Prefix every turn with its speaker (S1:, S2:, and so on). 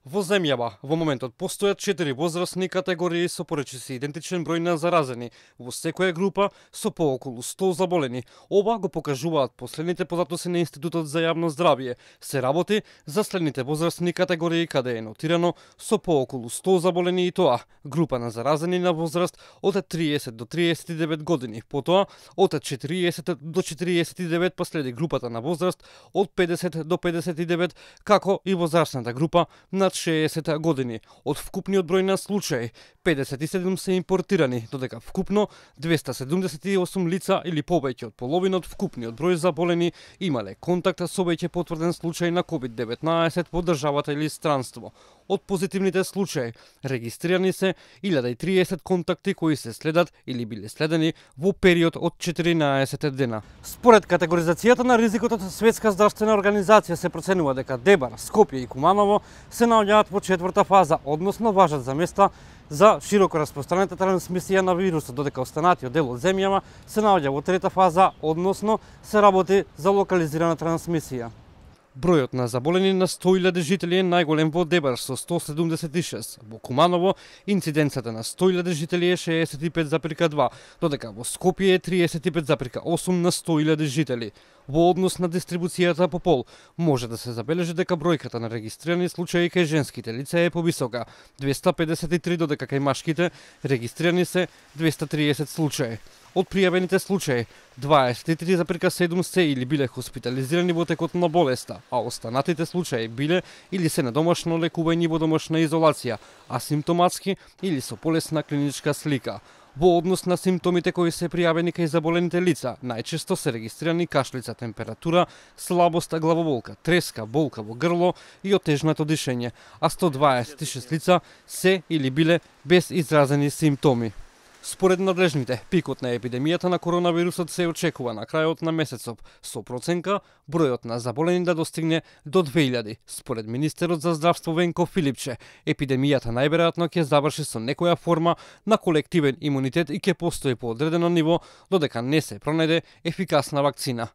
S1: Во земјава, во моментот, постојат 4 возрастни категории со поречиси идентичен број на заразени, во секоја група со пооколу 100 заболени. Ова го покажуваат последните податоци на Институтот за јавно здравје. Се работи за следните возрастни категории каде е нотирано со пооколу 100 заболени и тоа група на заразени на возраст од 30 до 39 години, потоа од 40 до 49 последи групата на возраст од 50 до 59, како и возрастната група на 60 години. Од вкупниот број на случаи, 57 се импортирани, додека вкупно 278 лица или повеќе од половина од вкупниот број заболени имале контакт со веќе потврден случај на COVID-19 во државата или странство. Од позитивните случаи регистрирани се 1030 контакти кои се следат или биле следени во период од 14 дена. Според категоризацијата на ризикот од Светска здравствена организација се проценува дека Дебар, Скопје и Куманово се наоѓаат во 4-та фаза, односно важат за места за широко распространета трансмисија на вирусот, додека останатиот дел од земјава се наоѓа во 3-та фаза, односно се работи за локализирана трансмисија. Бројот на заболени на 100.000 жители е најголем во Дебар со 176. Во Куманово инциденцата на 100.000 жители е 65,2, додека во Скопје е 35,8 на 100.000 жители. Во однос на дистрибуцијата по пол, може да се забележи дека бројката на регистрирани случаи кај женските лица е повисока, 253, додека кај машките регистрирани се 230 случаи. Од пријавените случаи, 23,7 се или биле хоспитализирани во текот на болеста, а останатите случаи биле или се на домашно лекување во домашна изолација, асимптоматски или со полесна клиничка слика. Во однос на симптомите кои се пријавени кај заболените лица, најчесто се регистрирани кашлица, температура, слабост, главоболка, треска, болка во грло и отежнато дишење, а 126 лица се или биле без изразени симптоми. Според надлежните, пикот на епидемијата на коронавирусот се очекува на крајот на месецов, со проценка бројот на заболени да достигне до 2000. Според министерот за здравство Венко Филипче, епидемијата најверојатно ќе заврши со некоја форма на колективен имунитет и ќе постои по одредено ниво додека не се пронајде ефикасна вакцина.